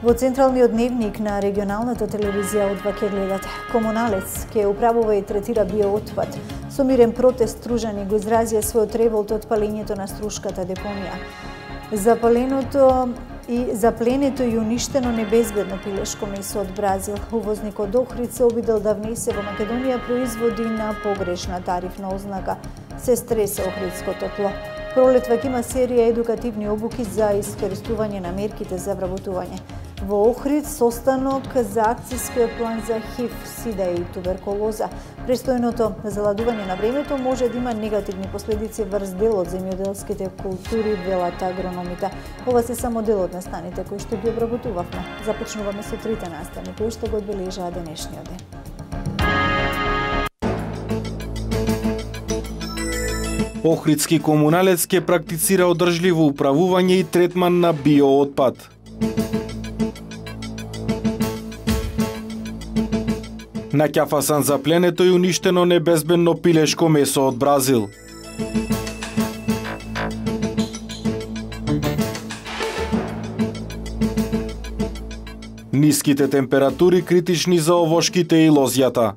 Во централниот дневник на регионалната телевизија од ваќе гледате. Комуналец ке управува и третира биоотпад. Со мирен протест стружани го изразија својот револт од палењето на Струшката депонија. Запленето и уништено небезбедно пилешко месо од Бразил. Увозникот Охрид се обидел да внесе во Македонија производи на погрешна тарифна ознака. Се стресе охридското тло. Пролет ваќе има серија едукативни обуки за искористување на мерките за вработување. Во Охрид состанок за акцијскиот план за ХИВ, СИДА и туберкулоза. Престојното заладување на времето може да има негативни последици врз дел од земјоделските култури, велат агрономите. Ова се само дел од настаните кои што ги обработувавме. Започнуваме со трите настани кои што го одбележаа денешниот ден. Охридски комуналец ке практицира одржливо управување и третман на биоотпад. На ќафасан запленето и уништено небезбедно пилешко месо од Бразил. Ниските температури критични за овошките и лозјата.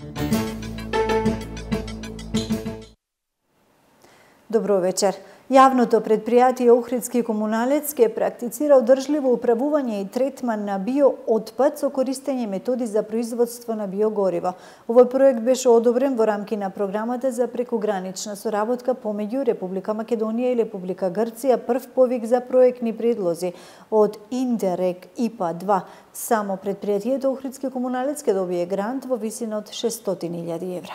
Добро вечер. Јавното предпријатие Охридски комуналец ке практицира одржливо управување и третман на биоотпад со користење методи за производство на биогориво. Овој проект беше одобрен во рамки на програмата за прекугранична соработка помеѓу Република Македонија и Република Грција, прв повик за проектни предлози од Интерек ИПА-2. Само предпријатието Охридски комуналец ке добие грант во висина од 600.000 евра.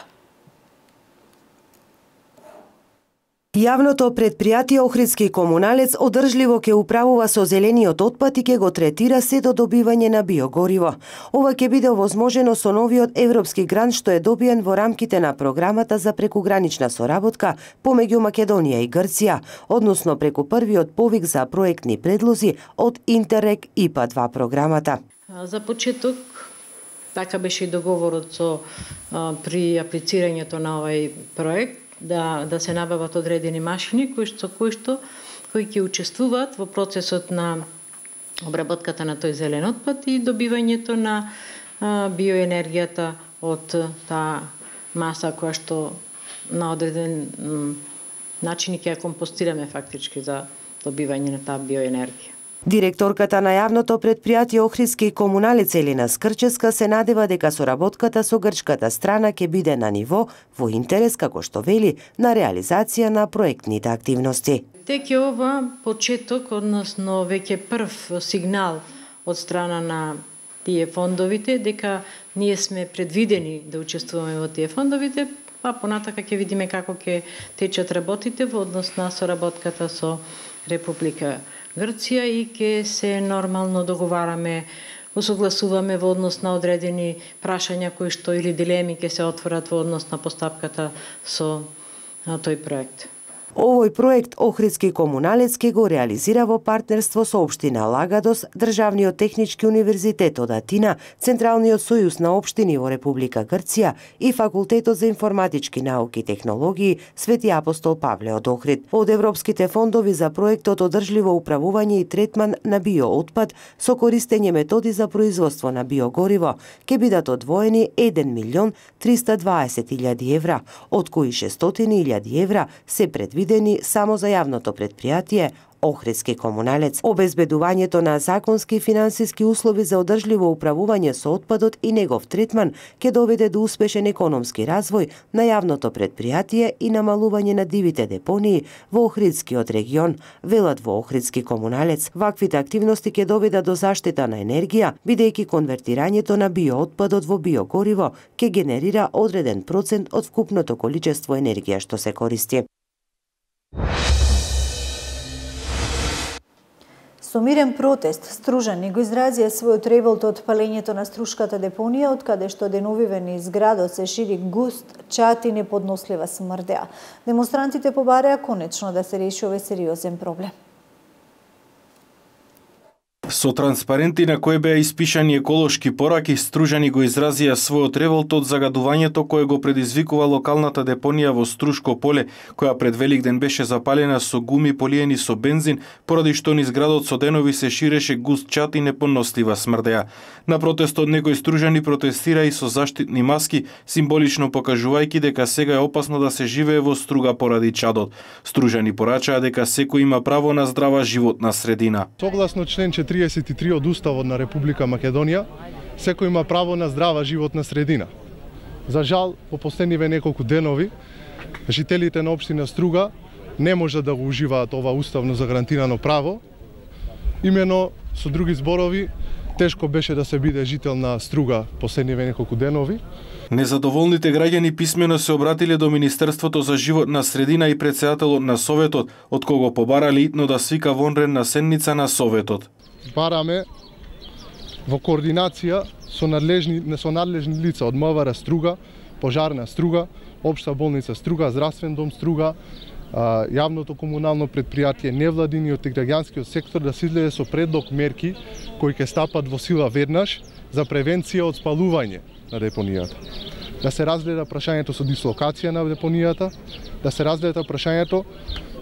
Јавното предпријатие Охридски комуналец одржливо ќе управува со зелениот отпад и ќе го третира се до добивање на биогориво. Ова ќе биде овозможено со новиот европски грант што е добиен во рамките на програмата за прекугранична соработка помеѓу Македонија и Грција, односно преку првиот повик за проектни предлози од Интерек ИПА-2 програмата. За почеток, така беше и договорот при аплицирањето на овој проект, да се набават одредени машини кои ќе учествуваат во процесот на обработката на тој зелен отпад и добивањето на биоенергијата од таа маса која што на одреден начин ќе ја компостираме фактички за добивање на таа биоенергија. Директорката на јавното предпријатие Охридски комуналец Елина Скрческа се надева дека соработката со грчката страна ќе биде на ниво во интерес, како што вели, на реализација на проектните активности. Тек е ова почеток, односно веќе прв сигнал од страна на тие фондовите, дека ние сме предвидени да учествуваме во тие фондовите, па понатака ќе видиме како ќе течат работите во однос на соработката со Република Грција и ќе се нормално договараме, усогласуваме во однос на одредени прашања кои што или дилеми ќе се отворат во однос на постапката со тој проект. Овој проект Охридски комуналец ке го реализира во партнерство со општина Лагадос, Државниот технички универзитет од Атина, Централниот сојуз на општини во Република Грција и Факултетот за информатички науки и технологии Свети апостол Павле од Охрид. Од европските фондови за проектот одржливо управување и третман на биоотпад со користење методи за производство на биогориво ќе бидат одвоени 1.320.000 евра, од кои 600.000 евра се предвидени само за јавното предпријатие Охридски комуналец. Обезбедувањето на законски и финансиски услови за одржливо управување со отпадот и негов третман ќе доведе до успешен економски развој на јавното предпријатие и намалување на дивите депонии во Охридскиот регион, велат во Охридски комуналец. Ваквите активности ќе доведат до заштита на енергија, бидејќи конвертирањето на биоотпадот во биогориво ќе генерира одреден процент од вкупното количество енергија што се користи. Со мирен протест, стружани го изразија својот револт од палењето на Струшката депонија, од каде што деновиве низ градот се шири густ чад и неподнослива смрдеа. Демонстрантите побареа конечно да се реши овој сериозен проблем. Со транспаренти на кои беа испишани еколошки пораки, стружани го изразија својот револт од загадувањето кое го предизвикува локалната депонија во Струшко поле, која пред Великден беше запалена со гуми полиени со бензин, поради што низ градот со денови се ширеше густ чад и непонослива смрдеа. На протестот некои стружани протестира и со заштитни маски, символично покажувајќи дека сега е опасно да се живее во Струга поради чадот. Стружани порачаа дека секој има право на здрава животна средина. Согласно член 33 од Уставот на Република Македонија, секој има право на здрава животна средина. За жал, по последниве неколку денови, жителите на општина Струга не може да го уживаат ова уставно загарантирано право. Имено, со други зборови, тешко беше да се биде жител на Струга последниве неколку денови. Незадоволните граѓани писмено се обратиле до Министерството за животна средина и председателот на Советот, од кого побарали итно да свика вонредна седница на Советот. Бараме во координација со надлежни лица од МВР Струга, Пожарна Струга, Општа болница Струга, Здравствен дом Струга, јавното комунално предпријатие, невладиниот и граѓанскиот сектор да се излезе со предлог мерки кои ќе стапат во сила веднаш за превенција од спалување на депонијата. Да се разгледа прашањето со дислокација на депонијата, да се разгледа прашањето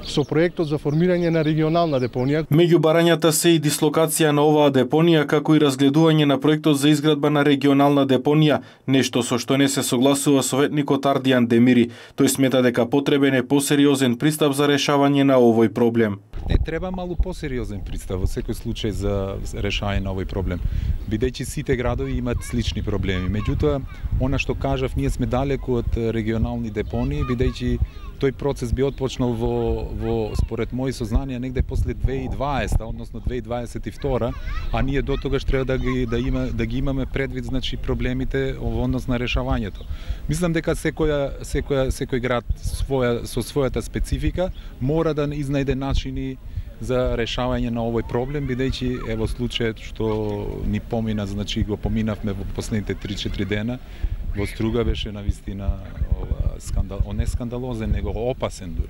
со проектот за формирање на регионална депонија. Меѓу барањата се и дислокација на оваа депонија, како и разгледување на проектот за изградба на регионална депонија, нешто со што не се согласува советникот Ардијан Демири. Тој смета дека потребен е посериозен пристап за решавање на овој проблем. Не треба малку посериозен пристап во секој случај за решавање на овој проблем, бидејќи сите градови имаат слични проблеми. Меѓутоа, она што кажав, ние сме далеку од регионални депонии, бидејќи тој процес би отпочнал во според мои сознанија негде после 2020, односно 2022, а ние до тогаш треба да ги имаме предвид, значи, проблемите во однос на решавањето. Мислам дека секој град со својата специфика мора да изнајде начини за решавање на овој проблем, бидејќи ево случајот што ни помина, значи го поминавме во последните 3-4 дена, во Струга беше навистина не скандалозен, него опасен дури.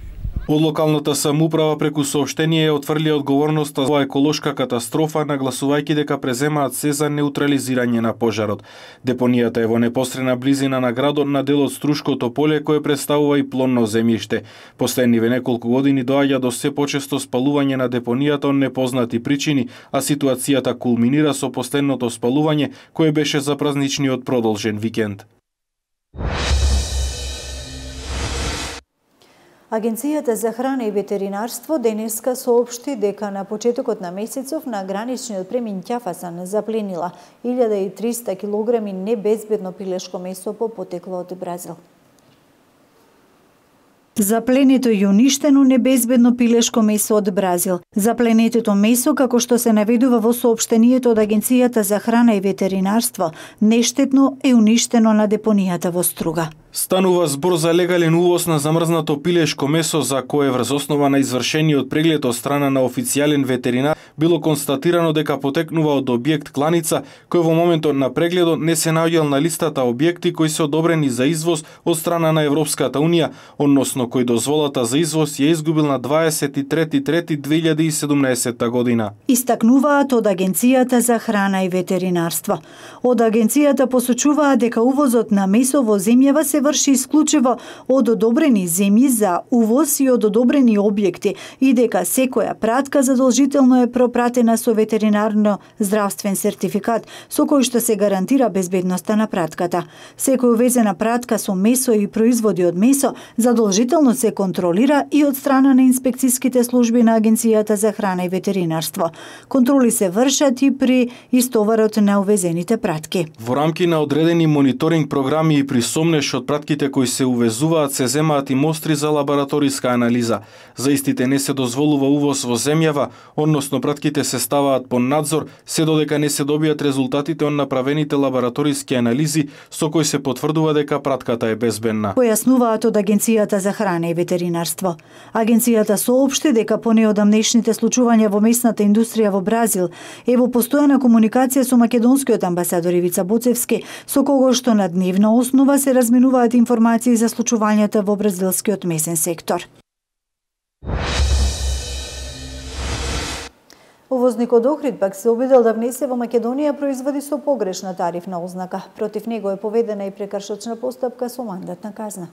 Од локалната самоуправа преку соопштение отфрли одговорноста за еколошка катастрофа, нагласувајќи дека преземаат се за неутрализирање на пожарот. Депонијата е во непосредна близина на градот на делот Струшкото поле, кое представува и плонно земјиште. Последниве неколку години доаѓа до се почесто спалување на депонијата од непознати причини, а ситуацијата кулминира со последното спалување кое беше за празничниот продолжен викенд. Агенцијата за храна и ветеринарство денеска соопшти дека на почетокот на месецов на граничниот премин Ќафасан запленила 1300 килограми небезбедно пилешко месо по потекло од Бразил. Запленето и уништено небезбедно пилешко месо од Бразил. Запленетото месо, како што се наведува во соопштението од Агенцијата за храна и ветеринарство, нештетно е уништено на депонијата во Струга. Станува збор за легален увоз на замрзнато пилешко месо за кое врз основа на извршениот преглед од страна на официјален ветеринар било констатирано дека потекнува од објект кланица кој во моментот на прегледот не се наоѓал на листата објекти кои се одобрени за извоз од страна на Европската унија, односно кој дозволата за извоз ја изгубил на 23.3.2017 година. Истакнуваат од Агенцијата за храна и ветеринарство. Од Агенцијата посочуваат дека увозот на месо во земјава се врши исклучиво од одобрени земји за увоз и од одобрени објекти и дека секоја пратка задолжително е пропратена со ветеринарно-здравствен сертификат со кој што се гарантира безбедноста на пратката. Секој увезена пратка со месо и производи од месо задолжително се контролира и од страна на инспекцијските служби на Агенцијата за храна и ветеринарство. Контроли се вршат и при истоварот на увезените пратки. Во рамки на одредени мониторинг програми и при сомнеш од пратките кои се увезуваат се земаат и мостри за лабораториска анализа. За истите не се дозволува увоз во земјава, односно пратките се ставаат под надзор се додека не се добијат резултатите од направените лабораториски анализи со кои се потврдува дека пратката е безбедна. Појаснуваат од Агенцијата за храна и ветеринарство. Агенцијата соопшти дека по неодамнешните случувања во месната индустрија во Бразил е во постојана комуникација со македонскиот амбасадор Ивица Боцевски, со кого што на дневна основа се разменуваат информации за случувањата во бразилскиот месен сектор. Увозникот Охрид пак се обидел да внесе во Македонија производи со погрешна тарифна ознака. Против него е поведена и прекршочна постапка со мандатна казна.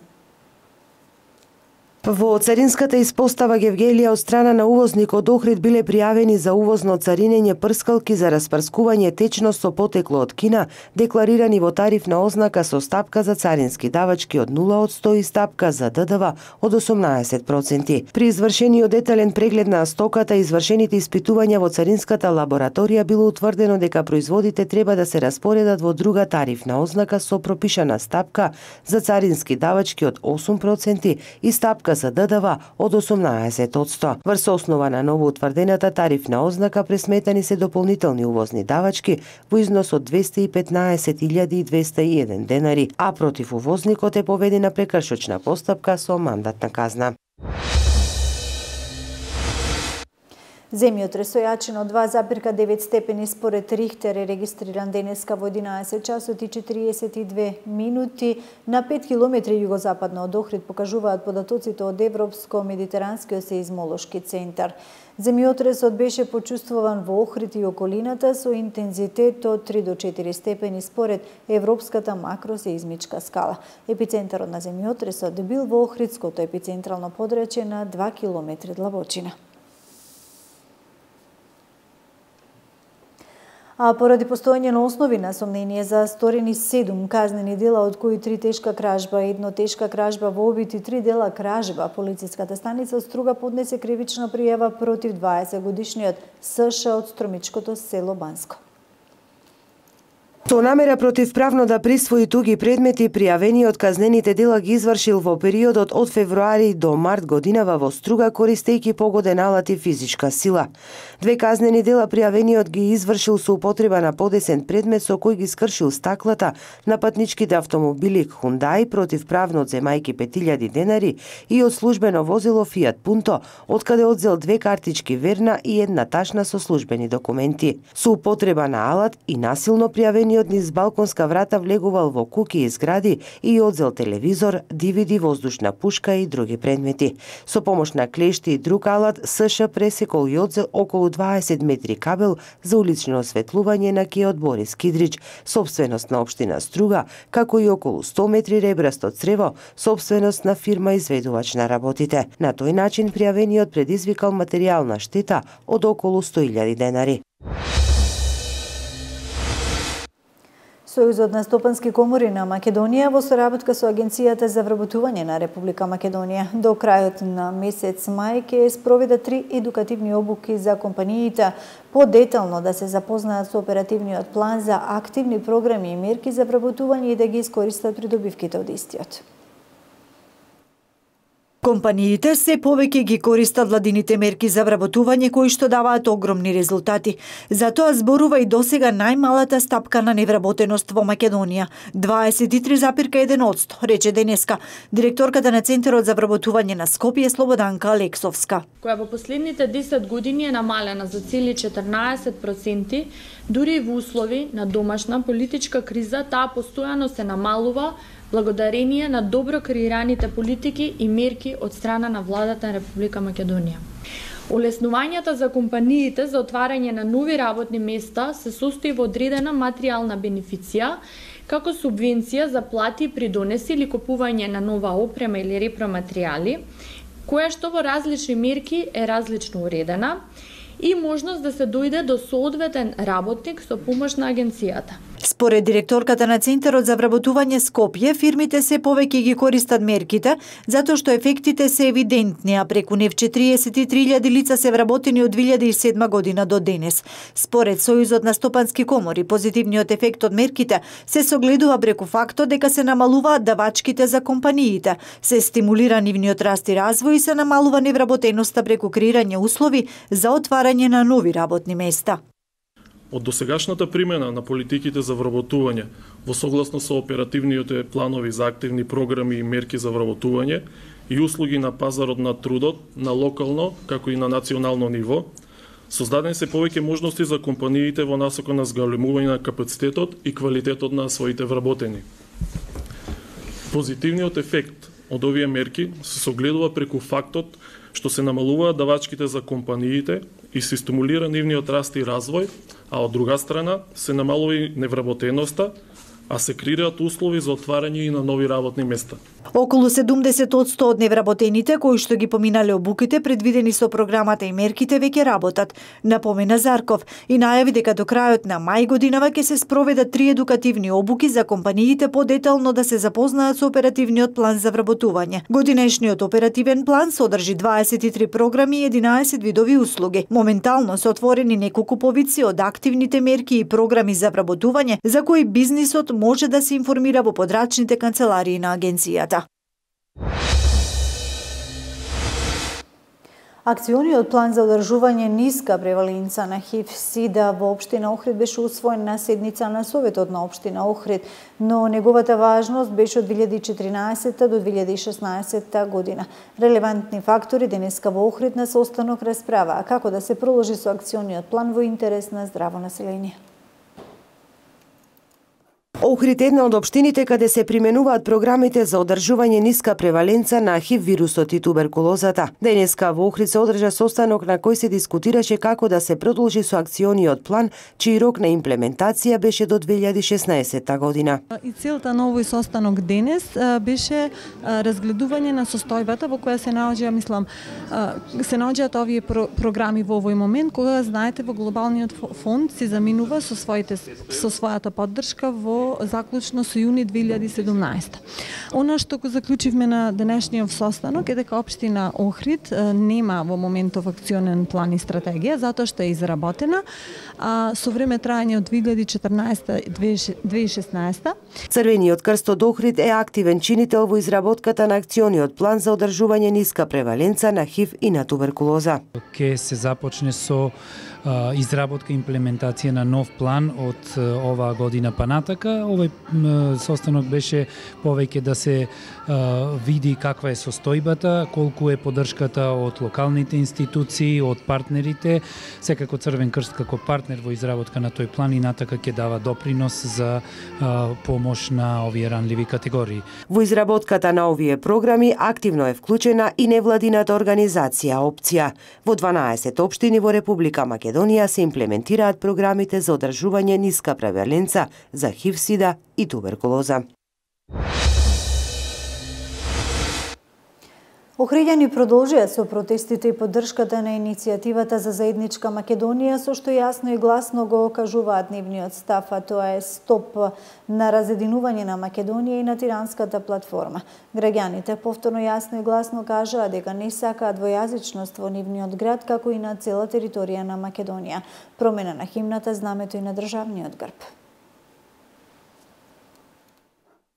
Во царинската испостава Гевгелија од страна на увозникот Охрид биле пријавени за увозно царинење прскалки за распрскување течност со потекло од Кина, декларирани во тарифна ознака со стапка за царински давачки од 0% и стапка за ДДВ од 18%. При извршениот детален преглед на стоката и извршените испитувања во царинската лабораторија било утврдено дека производите треба да се распоредат во друга тарифна ознака со пропишана стапка за царински давачки од 8% и стапка за ДДВ од 18%. Врз основа на ново утврдената тарифна ознака пресметани се дополнителни увозни давачки во износ од 215.201 денари, а против увозникот е поведена прекршочна постапка со мандатна казна. Земјотрес со јачина од 2,9 степени според Рихтер е регистриран денеска во 11 часот и 42 минути на 5 километри југозападно од Охрид, покажуваат податоците од Европско-медитеранскиот сеизмолошки центар. Земјотресот беше почувствуван во Охрид и околината со интензитет од 3 до 4 степени според Европската макросеизмичка скала. Епицентарот на земјотресот бил во Охридското епицентрално подрачје на 2 километри длабочина. А поради постоење на основи на сомнение за сторени 7 казнени дела, од кои 3 тешка кражба, 1 тешка кражба во обид и 3 дела кражба, полициската станица Струга поднесе кривична пријава против 20-годишниот СШ од Стромичкото село Банско. Со намера противправно да присвои туги предмети, пријавениот казнените дела ги извршил во периодот од февруари до март годинава во Струга, користејќи погоден алат и физичка сила. 2 казнени дела пријавениот ги извршил со употреба на подесен предмет со кој ги скршил стаклата на патничките автомобили Хундај, противправно земајки 5000 денари, и од службено возило Фиат Пунто, откаде одзел 2 картички верна и 1 ташна со службени документи. Со употреба на алат и насилно пријавениот низ балконска врата влегувал во куќи и згради и одзел телевизор, DVD, воздушна пушка и други предмети. Со помош на клешти и друг алат, СШ пресекол и одзел околу 20 метри кабел за улично осветлување на кеот Борис Кидрич, собственост на општина Струга, како и околу 100 метри ребрасто црево, собственост на фирма изведувач на работите. На тој начин пријавениот предизвикал материјална штета од околу 100.000 денари. Сојузот на стопански комори на Македонија во соработка со Агенцијата за вработување на Република Македонија до крајот на месец мај ќе спроведе 3 едукативни обуки за компаниите, подетално да се запознаат со оперативниот план за активни програми и мерки за вработување и да ги искористат придобивките од истиот. Компаниите се повеќе ги користат владините мерки за вработување кои што даваат огромни резултати. Затоа зборува и досега најмалата стапка на невработеност во Македонија – 23,1%, рече денеска директорката на Центарот за вработување на Скопје Слободанка Алексовска. Која во последните 10 години е намалена за цели 14%, дури и во услови на домашна политичка криза, таа постојано се намалува благодарение на добро креираните политики и мерки од страна на владата на Република Македонија. Олеснувањата за компаниите за отварање на нови работни места се состои во одредена материјална бенефиција, како субвенција за плати и придонеси или купување на нова опрема или репроматеријали, која што во различни мерки е различно уредена, и можност да се дојде до соодветен работник со помош на агенцијата. Според директорката на Центарот за вработување Скопје, фирмите се повеќе ги користат мерките, затоа што ефектите се евидентни, а преку нив 43.000 лица се вработени од 2007 година до денес. Според Сојузот на стопански комори, позитивниот ефект од мерките се согледува преку фактот дека се намалуваат давачките за компаниите, се стимулира нивниот раст и развој и се намалува невработеноста преку креирање услови за отварање на нови работни места. Од досегашната примена на политиките за вработување во согласно со оперативните планови за активни програми и мерки за вработување и услуги на пазарот на трудот на локално како и на национално ниво, создадени се повеќе можности за компаниите во насока на зголемување на капацитетот и квалитетот на своите вработени. Позитивниот ефект од овие мерки се согледува преку фактот што се намалуваат давачките за компаниите и се стимулира нивниот раст и развој, а од друга страна се намалува и невработеноста, а се креираат услови за отварање и на нови работни места. Околу 70% од невработените кои што ги поминале обуките предвидени со програмата и мерките веќе работат, напомена Зарков и најави дека до крајот на мај годинава ќе се спроведат 3 едукативни обуки за компаниите подетално да се запознаат со оперативниот план за вработување. Годинешниот оперативен план содржи 23 програми и 11 видови услуги. Моментално се отворени неколку повици од активните мерки и програми за вработување за кои бизнисот може да се информира во подрачните канцеларии на агенцијата. Акциониот план за одржување ниска преваленца на ХИВ-СИДА во општина Охрид беше усвоен на седница на Советот на општина Охрид, но неговата важност беше од 2014 до 2016 година. Релевантни фактори денеска во Охрид на состанок расправаа како да се проложи со акциониот план во интерес на здраво население. Охрид е една од општините каде се применуваат програмите за одржување ниска преваленца на ХИВ вирусот и туберкулозата. Денеска во Охрид се одржа состанок на кој се дискутираше како да се продолжи со акциониот план, чиј рок на имплементација беше до 2016 година. И целта на овој состанок денес беше разгледување на состојбата во која се наоѓа, мислам, се наоѓаат овие програми во овој момент, кога знаете во глобалниот фонд се заминува со својата поддршка во заклучно со јуни 2017. Она што го заклучивме на денешниот состанок е дека општина Охрид нема во моментов акционен план и стратегија, затоа што е изработена, со време трајање од 2014-2016. Црвениот крст од Охрид е активен чинител во изработката на акциониот план за одржување ниска преваленца на ХИВ и на туберкулоза. Ке се започне со изработка и имплементација на нов план од оваа година па натака. Овој состанок беше повеќе да се види каква е состојбата, колку е поддршката од локалните институции, од партнерите. Секако Црвен крст како партнер во изработка на тој план и натака ќе дава допринос за помош на овие ранливи категории. Во изработката на овие програми активно е вклучена и невладината организација Опција. Во 12 општини во Република Македонија се имплементираат програмите за одржување ниска преваленца за ХИВ-СИДА и туберкулоза. Охриѓани продолжија со протестите и поддршката на иницијативата за заедничка Македонија, со што јасно и гласно го окажуваат нивниот став, а тоа е стоп на разединување на Македонија и на тиранската платформа. Граѓаните повторно јасно и гласно кажаа дека не сакаат двојазичност во нивниот град, како и на цела територија на Македонија. Промена на химната, знамето и на државниот грб.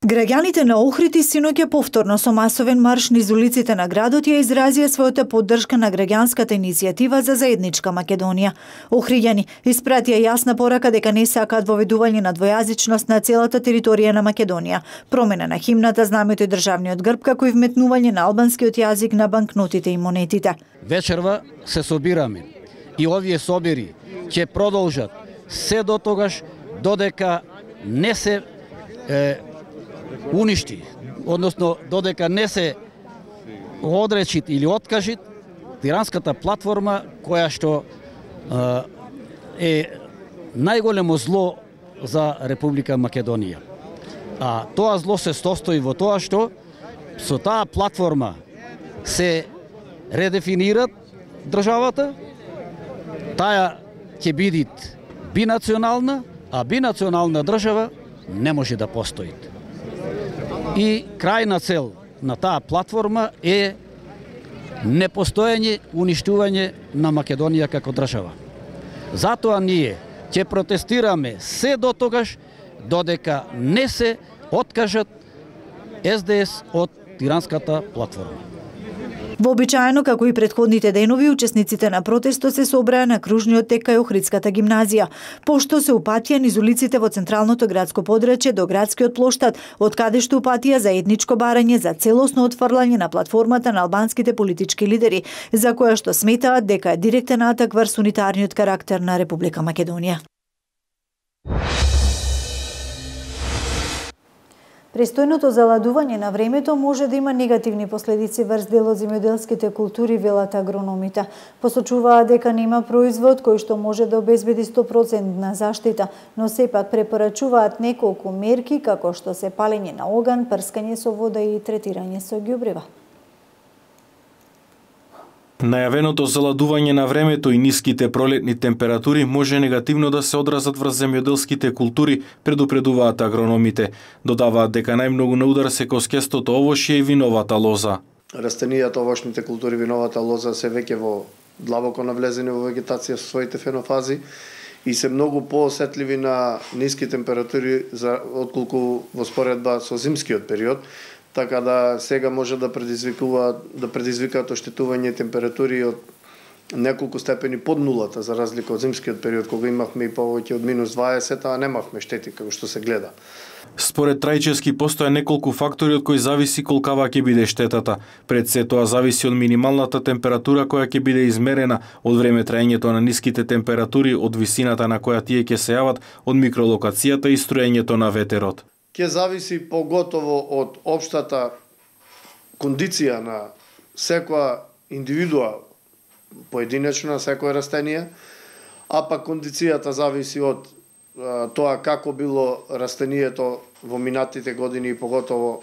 Граѓаните на Охрид и синоќа повторно со масовен марш низ улиците на градот ја изразија својата поддршка на граѓанската иницијатива за заедничка Македонија. Охриѓани испратија јасна порака дека не сакаат воведување на двојазичност на целата територија на Македонија, промена на химната, знамето и државниот грб, како и вметнување на албанскиот јазик на банкнотите и монетите. Вечерва се собираме и овие собери ќе продолжат се до тогаш додека не се уништи, односно додека не се одречит или откажит тиранската платформа, која што е најголемо зло за Република Македонија. А тоа зло се состои во тоа што со таа платформа се редефинират државата, таа ќе биде бинационална, а бинационална држава не може да постои. И крајна цел на таа платформа е непостоење, уништување на Македонија како држава. Затоа ние ќе протестираме се до тогаш додека не се откажат СДС од тиранската платформа. Вообичаено, како и претходните денови, учесниците на протестот се собраа на кружниот тек кај Охридската гимназија, пошто се упатија низ улиците во централното градско подрачје до градскиот плоштад, од каде што упатија за етничко барање за целосно отфрлање на платформата на албанските политички лидери, за која што сметаат дека е директен атак врз унитарниот карактер на Република Македонија. Престојното заладување на времето може да има негативни последици врз дел од земјоделските култури, велат агрономите. Посочуваат дека нема производ кој што може да обезбеди 100% заштита, но сепак препорачуваат неколку мерки како што се палење на оган, прскање со вода и третирање со ѓубрева. Најавеното заладување на времето и ниските пролетни температури може негативно да се одразат врз земјоделските култури, предупредуваат агрономите. Додаваат дека најмногу на удар се коскестото овошје и виновата лоза. Растенијата, овошните култури, виновата лоза се веќе во длабоко навлезени во вегетација со своите фенофази и се многу поосетливи на ниски температури отколку во споредба со зимскиот период. Така да сега може да предизвикаат оштетување температури од неколку степени под нулата, за разлика од зимскиот период, кога имавме и повеќе од -20, а немавме штети како што се гледа. Според Трајчевски постоја неколку фактори од кои зависи колкава ќе биде штетата. Пред се тоа зависи од минималната температура која ќе биде измерена, од време траењето на ниските температури, од висината на која тие ќе се јават, од микролокацијата и струењето на ветерот. Ќе зависи поготово од општата кондиција на секоја индивидуа поединечно, секое растение, а пак кондицијата зависи од тоа како било растението во минатите години и поготово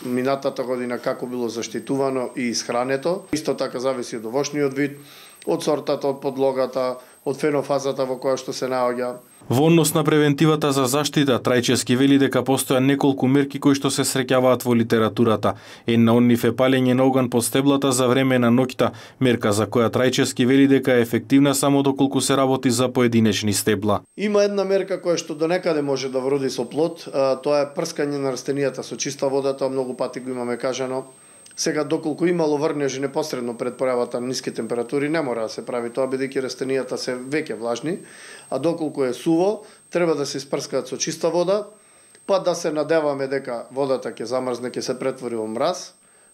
минатата година како било заштитувано и исхрането. Исто така зависи од овошниот вид, од сортата, од подлогата, од фенофазата во која што се наоѓа. Во однос на превентивата за заштита, Трајчевски вели дека постоја неколку мерки кои што се среќаваат во литературата. Една од нив е палење на оган под стеблата за време на ноќта, мерка за која Трајчевски вели дека е ефективна само доколку се работи за поединечни стебла. Има една мерка која што донекаде може да вроди со плод, тоа е прскање на растенијата со чиста вода, тоа многу пати го имаме кажано. Сега, доколку имало врнежи непосредно пред појавата на ниски температури, не мора да се прави тоа, бидејќи растенијата се веќе влажни, а доколку е суво, треба да се испрскаат со чиста вода, па да се надеваме дека водата ќе замрзне, ќе се претвори во мраз.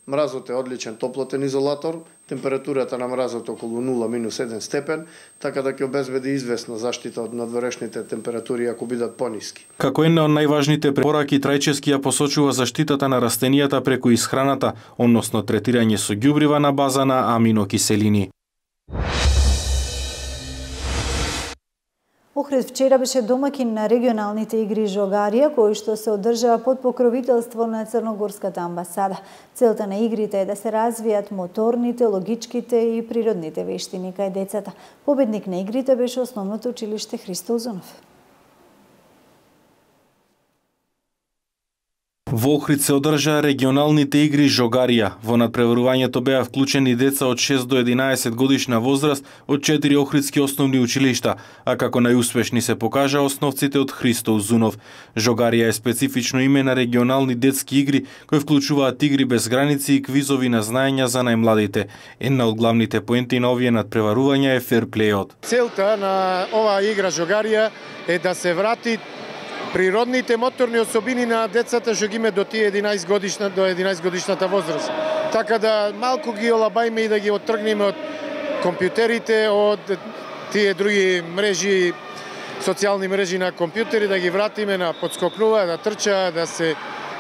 Мразот е одличен топлотен изолатор, температурата на мразот околу 0-1 степен, така да ќе обезбеди известна заштита од надворешните температури ако бидат пониски. Како една од најважните препораки, Трајчевски ја посочува заштитата на растенијата преку исхраната, односно третирање со ѓубрива на база на аминокиселини. Охрид вчера беше домакин на регионалните игри Жогарија, кои што се одржаа под покровителство на Црногорската амбасада. Целта на игрите е да се развијат моторните, логичките и природните вештини кај децата. Победник на игрите беше Основното училиште Христо Узунов. Во Охрид се одржаа регионалните игри Жогарија. Во надпреварувањето беа вклучени деца од 6 до 11 годишна возраст од 4 охридски основни училишта, а како најуспешни се покажа основците од Христо Узунов. Жогарија е специфично име на регионални детски игри кои вклучуваат игри без граници и квизови на знаења за најмладите. Една од главните поенти на овие надпреварувања е ферплејот. Целта на оваа игра Жогарија е да се врати природните моторни особини на децата што ги има до тие 11 годишната возраст. Така да малку ги олабајме и да ги оттргнеме од компјутерите, од тие други мрежи, социјални мрежи на компјутери, да ги вратиме на подскокнува, да трча, да се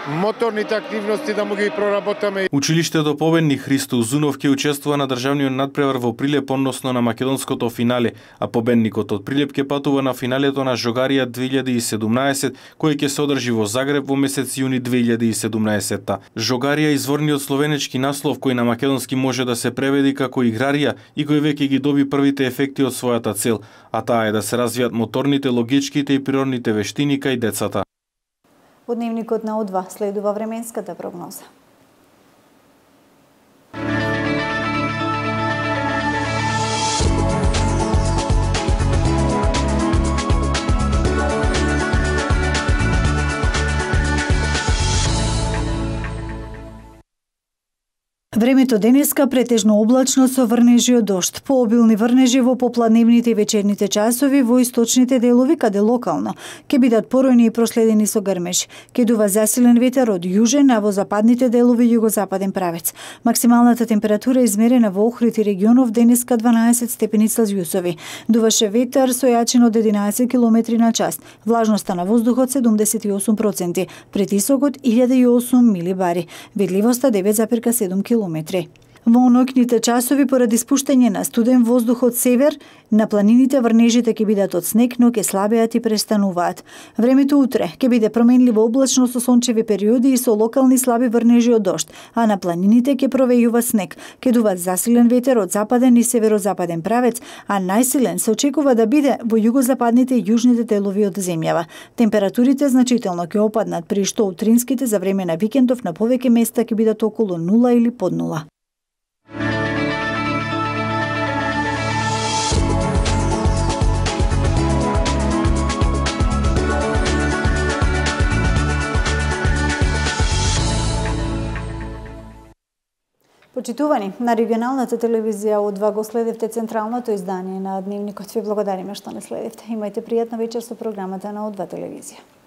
моторните активности да му ги проработаме. Училиштето победник Христо Узунов ќе учествува на државниот надпревар во Прилеп, односно на македонското финале, а победникот од Прилеп ќе патува на финалето на Жогарија 2017, кој ќе се одржи во Загреб во месец јуни 2017. Жогарија е изворниот словенечки наслов кој на македонски може да се преведи како играрија и кој веќе ги доби првите ефекти од својата цел, а таа е да се развијат моторните, логичките и природните вештини кај децата. Во дневникот на О2 следува временската прогноза. Времето денеска претежно облачно со врнежи од дожд. Пообилни врнежи во попладневните и вечерните часови во источните делови, каде локално ќе бидат поројни и проследени со грмеж. Ќе дува засилен ветер од јужен, а во западните делови југозападен правец. Максималната температура измерена во Охрид и регионов денеска 12 степени Целзиусови. Дуваше ветер со јачина од 11 км на час. Влажноста на воздухот 78%, притисокот 1008 милибари. Видливоста 9,7 км. Во ноќните часови поради спуштање на студен воздух од север, на планините врнежите ќе бидат од снег, но ќе слабеат и престануваат. Времето утре ќе биде променливо облачно со сончеви периоди и со локални слаби врнежи од дожд, а на планините ќе провејува снег. Ќе дува засилен ветер од западен и северозападен правец, а најсилен се очекува да биде во југозападните и јужните делови од земјава. Температурите значително ќе опаднат, при што утринските за време на викендов на повеќе места ќе бидат околу 0 или под 0. Почитувани, на регионалната телевизија од 2 го следевте централното издание на Дневникот. Ви благодариме што не следевте. Имајте пријатна вечер со програмата на од 2 телевизија.